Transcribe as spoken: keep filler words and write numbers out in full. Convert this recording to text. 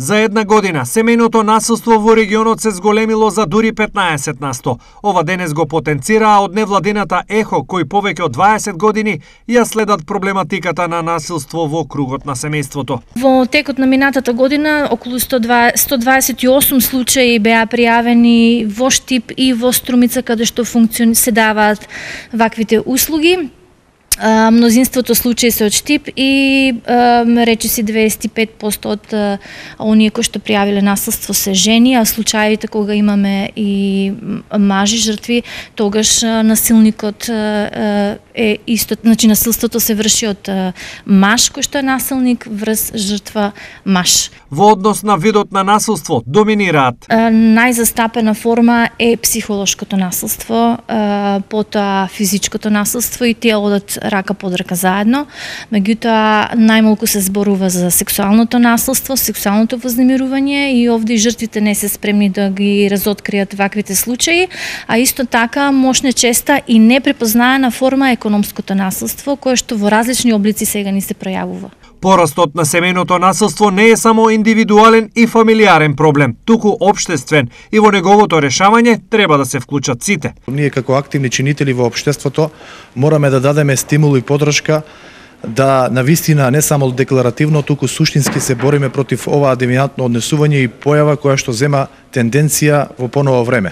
За една година, семејното насилство во регионот се зголемило за дури петнаесет на сто. Ова денес го потенцираа од невладината ЕХО, кои повеќе од дваесет години ја следат проблематиката на насилство во кругот на семејството. Во текот на минатата година, околу сто дваесет и осум случаи беа пријавени во Штип и во Струмица, каде што функциони се даваат ваквите услуги. Мнозинството случаи се од Штип и речиси дваесет и пет проценти од оние кои што пријавиле насилство се жени, а случаите кога имаме и мажи жртви, тогаш насилникот е исто, значи насилството се врши од маж кој што е насилник врз жртва маж. Во однос на видот на насилство доминираат. Најзастапена форма е психолошкото насилство, потоа физичкото насилство и тие одат рака под рака заедно. Меѓутоа, најмалку се зборува за сексуалното насилство, сексуалното вознемирување и овде жртвите не се спремни да ги разоткријат ваквите случаи, а исто така мощна честа и непрепознаена форма е економското насилство, кое што во различни облици сега ни се пројавува. Порастот на семејното насилство не е само индивидуален и фамилиарен проблем, туку општествен и во неговото решавање треба да се вклучат сите. Ние како активни чинители во општеството мораме да дадеме стимул и подршка да навистина не само декларативно, туку суштински се бориме против оваа девијантно однесување и појава која што зема тенденција во поново време.